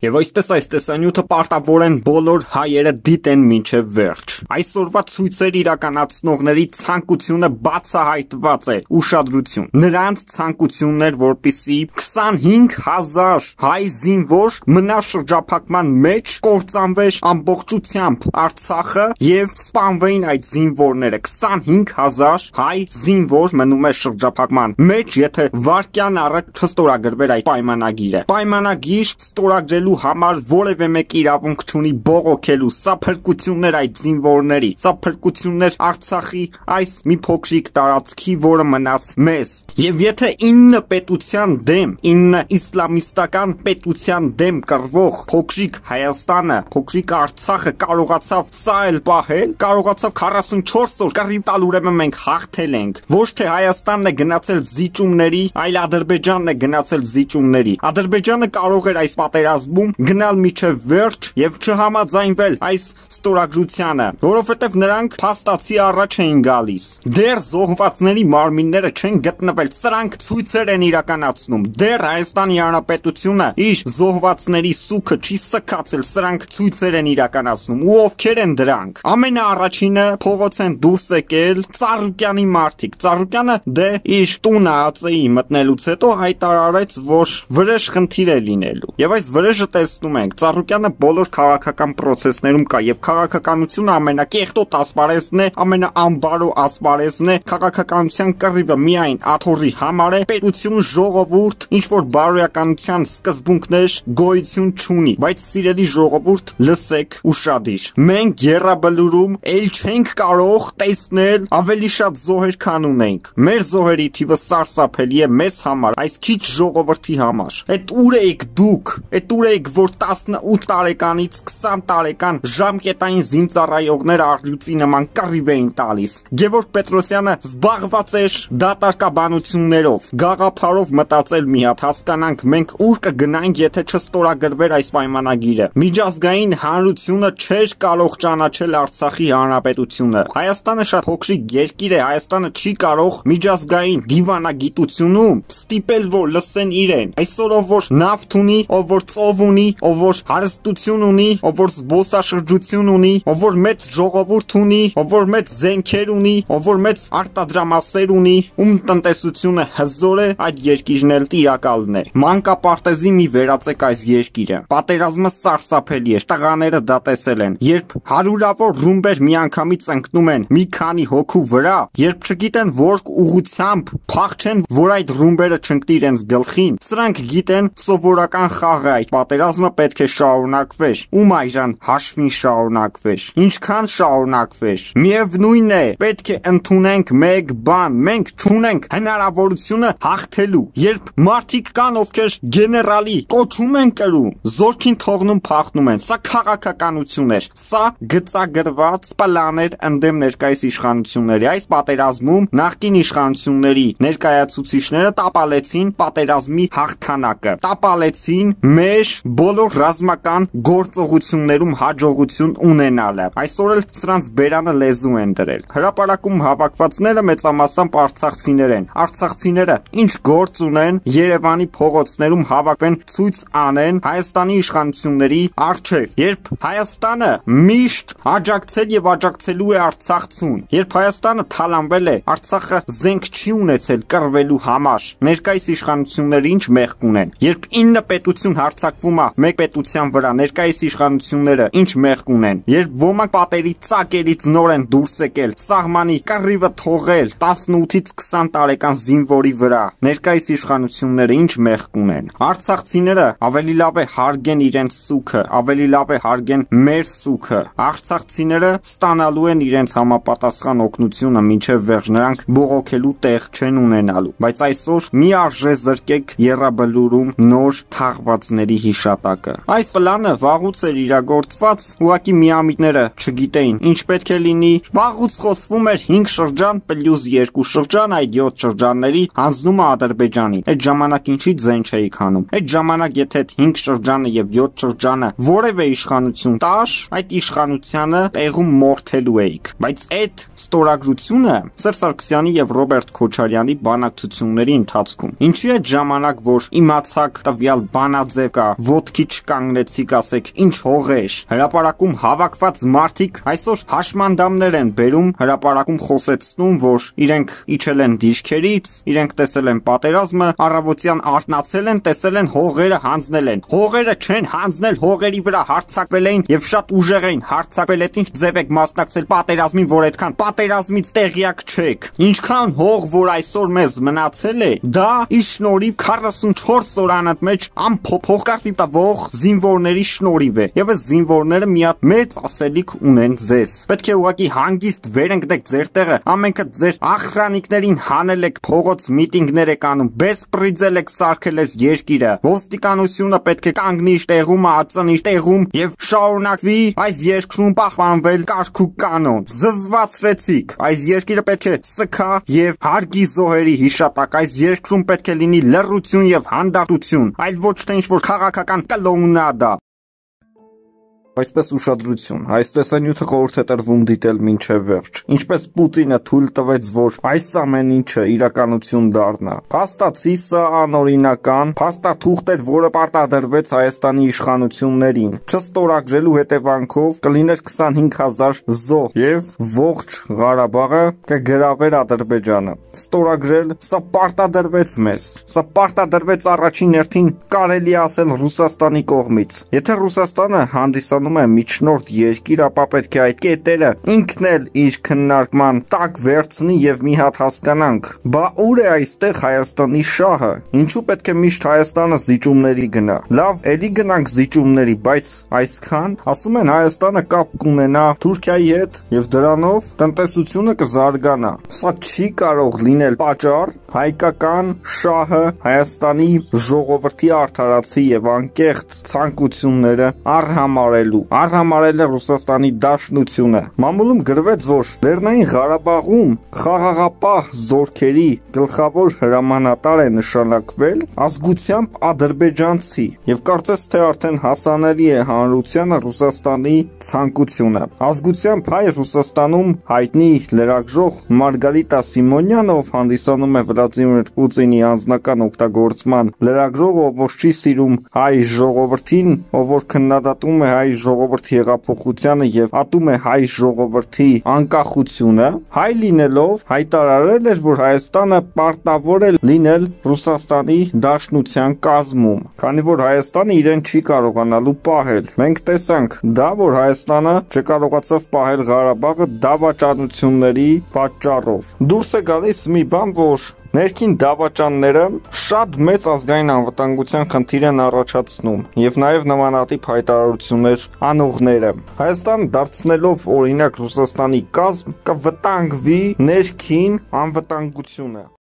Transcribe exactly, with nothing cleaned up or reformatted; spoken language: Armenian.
Եվ այսպես այս տեսանյութը պարտավոր են բոլոր հայերը դիտեն մինչև վերջ։ Այսօրվա ցույցեր իրականացնողների ցանկությունը բացահայտված է, ուշադրություն։ Նրանց ցանկությունն էր, որպեսզի քսանհինգ հազար հայ զինվոր մնա շրջափակման մեջ, կործանվեր ամբողջությամբ Արցախը եւ սպանվեին այդ զինվորները։ քսանհինգ հազար հայ զինվոր մնում է շրջափակման մեջ, եթե վարկյան առաջ չստորագրվեր այդ պայմանագիրը։ Պայմանագիր ստորագրելու համար որևէ մեկ իրավունք չունի բողոքելու։ Սա փրկություններ այդ զինվորների, սա փրկություններ Արցախի այս մի փոքրիկ տարածքի, որը մնաց մեզ։ Եվ եթե ինը պետության դեմ, ինը իսլամիստական պետության դեմ կռվող փոքրիկ Հայաստանը, փոքրիկ Արցախը կարողացավ սա էլ պահել, կարողացավ քառասունչորս օր կռիվ տալ, ուրեմն մենք հաղթել ենք։ Ոչ թե Հայաստանն է գնացել զիջումների, այլ Ադրբեջանն է գնացել զիջումների։ Ադրբեջանը կարող էր այս պատերազմում գնալ միջև վերջ եւ չհամաձայնվել այս ստորագրությանը, որովհետեւ նրանք փաստացի առաջ էին գալիս։ Դեռ զոհվածների մարմինները չեն գտնվել, սրանք ցույցեր են իրականացնում։ Դեռ Հայաստանի Հանրապետությունը իր զոհվածների սուքը չի սքացել, սրանք ցույցեր են իրականացնում։ Ու ովքեր են դրանք։ Ամենաառաջինը փողոց են դուրս եկել Ծառուկյանի մարդիկ։ Ծառուկյանը դե իր տունը ԱԾ-ի մտնելուց հետո հայտարարեց, որ վրեժ խնդիր է լինելու։ Եվ այս վրեժը տեսնում ենք, Ծառուկյանը բոլոր քաղաքական process-ներում կա եւ քաղաքականությունը ամենակեղտոտ ասպարեզն է, ամենաանբարո ասպարեզն է, քաղաքականության կռիվը միայն աթոռի համար է, պետություն, ժողովուրդ, ինչ որ բարոյականության սկզբունքներ գոյություն չունի, բայց սիրելի ժողովուրդ, լսեք ուշադիր։ Մենք Եռաբլուրում ել չենք կարող տեսնել ավելի շատ զոհեր, քան ունենք։ Մեր զոհերի թիվը սարսափելի է մեզ համար, այս քիչ ժողովրդի համար։ Այդ ուր եք դուք, այդ ուր եք, որ տասնութ տարեկանից քսան տարեկան ժամկետային զինծառայողներ առյուծի նման կռիվ էին տալիս։ Գևորգ Պետրոսյանը զբաղված էր դատարկաբանություններով, գաղափարով մտածել մի հատ, հասկանանք մենք ուր կգնանք, եթե չստորագրվեր այս պայմանագիրը։ Միջազգային հանրությունը չէր կարող ճանաչել Արցախի հանրապետությունը։ Հայաստանը շատ փոքրիկ երկիր է, Հայաստանը չի կարող միջազգային դիվանագիտությունում ստիպել, որ լսեն իրեն։ Այսօր ով որ նավթ ունի, ով որ ծով ունի, ով որ հարստություն ունի, ով որ զբոսաշրջություն ունի, ով որ մեծ ժողովուրդ ունի, ով որ մեծ զենքեր ունի, ով որ մեծ արտադրամասեր ունի, ում տնտեսությունը հզոր է, այդ երկիրն էլ տիրակալն է։ Մանկապարտեզի մի վերածեք այս երկիրը։ Պատերազմը սարսափելի է, տղաները դա տեսել են։ Երբ հարյուրավոր ռումբեր միանգամից ընկնում են մի քանի հոգու վրա, երբ չգիտեն որ ուղությամբ փախչեն, որ այդ ռումբերը չընկնի իրենց գլխին, սրանք գիտեն սովորական խաղ է, այդ պատերազմը պետք է շարունակվեր։ Ում այժմ հաշվին շարունակվեր, ինչքան շարունակվեր։ Միևնույն է, պետք է ընդունենք մեկ բան, մենք չունենք հնարավորությունը հաղթելու։ Երբ մարդիկ կան, ովքեր գեներալի կոչում են կրում, զորքին թողնում փախնում են, սա քաղաքականություն էր, սա գծագրված պլան էր ընդդեմ ներկայիս իշխանությունների։ Այս պատերազմում նախկին իշխանությունների ներկայացուցիչները տապալեցին պատերազմի հաղթանակը, տապալեցին մեր բոլոր ռազմական գործողություններում հաջողություն ունենալը։ Այսօր էլ սրանց բերանը լեզու են դրել։ Հրապարակում հավաքվածները մեծամասամբ արցախցիներ են։ Արցախցիները ինչ գործ ունեն, Երևանի փողոցներում հավաքվեն, ցույց անեն Հայաստանի իշխանությունների առջև։ Երբ Հայաստանը միշտ աջակցել եւ աջակցելու է Արցախցուն, երբ Հայաստանը թալանվել է, Արցախը զենք չի ունեցել կռվելու համար, ներկայիս իշխանությունները ինչ մեղք ունեն։ Երբ ինը պետություն հարձակվում է մեկ պետության վրա, ներկայիս իշխանությունները ինչ մեղք ունեն։ Երբ ոմանք պատերի ծակերից նոր են դուրս եկել, սահմանի կռիվը թողել տասնութից քսան տարեկան զինվորի վրա, ներկայիս իշխանությունները ինչ մեղք ունեն։ Արցախցիները ավելի լավ է հարգեն իրենց սուքը, ավելի լավ է հարգեն մեր սուքը։ Արցախցիները ստանալու են իրենց համապատասխան օգնությունը մինչև վերջ, նրանք բողոքելու տեղ չեն ունենալու։ Բայց այսօր մի արժե զրկեք Եռաբլուրում նոր թաղվածների հիշատակը։ Այս պլանը վաղուց էր իրագործված, ուղղակի միամիտները չգիտեին ինչ պետք է լինի։ Վաղուց խոսվում էր հինգ շրջան պլյուս երկու շրջան, այդ յոթ շրջանների հանձնումը Ադրբեջանին։ Այդ ժամանակ ինչի ձեն չէի քանում։ Այդ ժամանակ եթե հինգ շրջանը եւ յոթ շրջանը որևէ իշխանություն տար, այդ իշխանությանը տեղում մորթելու էիք։ Բայց այդ ստորագրությունը Սերժ Սարգսյանի եւ Ռոբերտ Քոչարյանի բանակցությունների ընթացքում ինչի է ժամանակ, որ իմացակ տվյալ բանաձև կա, ոտքի չկանգնեցիք, ասեք, ինչ հողեր։ Հրապարակում հավաքված մարդիկ այսօր հաշմանդամներ են բերում, հրապարակում խոսեցնում, որ իրենք իջել են դիրքերից, իրենք տեսել են պատերազմը, առավոտյան արթնացել են, տեսել են հողերը հանձնել են։ Հողերը չեն հանձնել, հողերի վրա հարձակվել էին եւ շատ ուժեղ էին հարձակվել, այդ ինչ ձև եք մասնակցել պատերազմին, որ այդքան պատերազմից տեղյակ չեք։ Ինչքան հող, որ այսօր մեզ մնացել է, դա իր շնորհիվ քառասունչորս օր անընդմեջ անփոփոխ տվող զինվորների շնորհիվ է։ Եվ այս զինվորները մի հատ մեծ ասելիք ունեն ձեզ։ Պետք է ուղղակի հանգիստ վերընկնեք ձեր տեղը, ամենքը ձեր ախրանիկներին հանել եք, փողոց միտինգներ եք անում, բեսպրիձել եք սարքել այս երկիրը։ Ոստիկանությունը պետք է կանգնի իր տեղում, ածնի իր տեղում եւ շարունակվի այս երկրում պահպանվել կարգ ու կանոն։ Զզվացրեցիք։ Այս երկիրը պետք է սքա եւ հարգի զոհերի հիշատակ։ Այս երկրում պետք է լինի լռություն եւ հանդարտություն, այլ ոչ թե ինչ-որ քաղաքական կլոունադա։ Այսպես ուշադրություն, այս տեսանյութը խորհուրդ է տրվում դիտել մինչև վերջ։ Ինչպես Պուտինը թույլ տվեց, որ այս ամեն ինչը իրականություն դառնա։ Փաստացի սա անօրինական, փաստաթուղթ էր, որը պարտադրվեց Հայաստանի իշխանություններին։ Չստորագրելու հետևանքով կլիներ քսանհինգ հազար զոհ եւ ողջ Ղարաբաղը կգրավեր Ադրբեջանը։ Ստորագրել սա պարտադրվեց մեզ։ Սա պարտադրվեց առաջին հերթին, կարելի է ասել, Ռուսաստանի կողմից։ Եթե Ռուսաստանը հանդիսանում է միջնորդ երկիր, ապա պետք է այդ կետերը ինքն էլ իր քննարկման տակ վերցնի եւ մի հատ հասկանանք, բա ուր է այստեղ Հայաստանի շահը, ինչու պետք է միշտ Հայաստանը զիջումների գնա։ Լավ, էլի գնանք զիջումների, բայց այսքան, ասում են, Հայաստանը կապ կունենա Թուրքիայի հետ եւ դրանով տնտեսությունը կզարգանա։ Սա չի կարող լինել պատճառ հայկական շահը Հայաստանի ժողովրդի արդարացի եւ անկեղծ ցանկությունները արհամարել Արհամարել է Ռուսաստանի Դաշնությունը։ Մամուլում գրվեց, որ Լեռնային Ղարաբաղում խաղաղապահ զորքերի գլխավոր հրամանատար է նշանակվել ազգությամբ ադրբեջանցի եւ կարծես թե արդեն հասանելի է հանրությանը Ռուսաստանի ցանկությունը։ Ազգությամբ հայ Ռուսաստանում հայտնի լրագրող Մարգարիտա Սիմոնյանը, ով հանդիսանում է Վլադիմիր Պուտինի անձնական օգտագործման լրագրող, ով որ չի սիրում հայ ժողովրդին, ով որ քննադատում է հայ ժողովրդի հեղափոխությանը եւ ատում է հայ ժողովրդի անկախությունը, հայ լինելով հայտարարել էր, որ Հայաստանը պարտավոր է լինել Ռուսաստանի Դաշնության կազմում, քանի որ Հայաստանը իրեն չի կարողանալու պահել։ Մենք տեսանք դա, որ Հայաստանը չկարողացավ պահել Ղարաբաղը դավաճանությունների պատճառով։ Դուրս է գալիս մի բան, որ ներքին դավաճանները շատ մեծ ազգային անվտանգության խնդիր են առաջացնում եւ նաեւ նմանատիպ հայտարարություններ անողները։ Հայաստան դարձնելով օրինակ Ռուսաստանի կազմ կվտանգվի ներքին անվտանգությունը։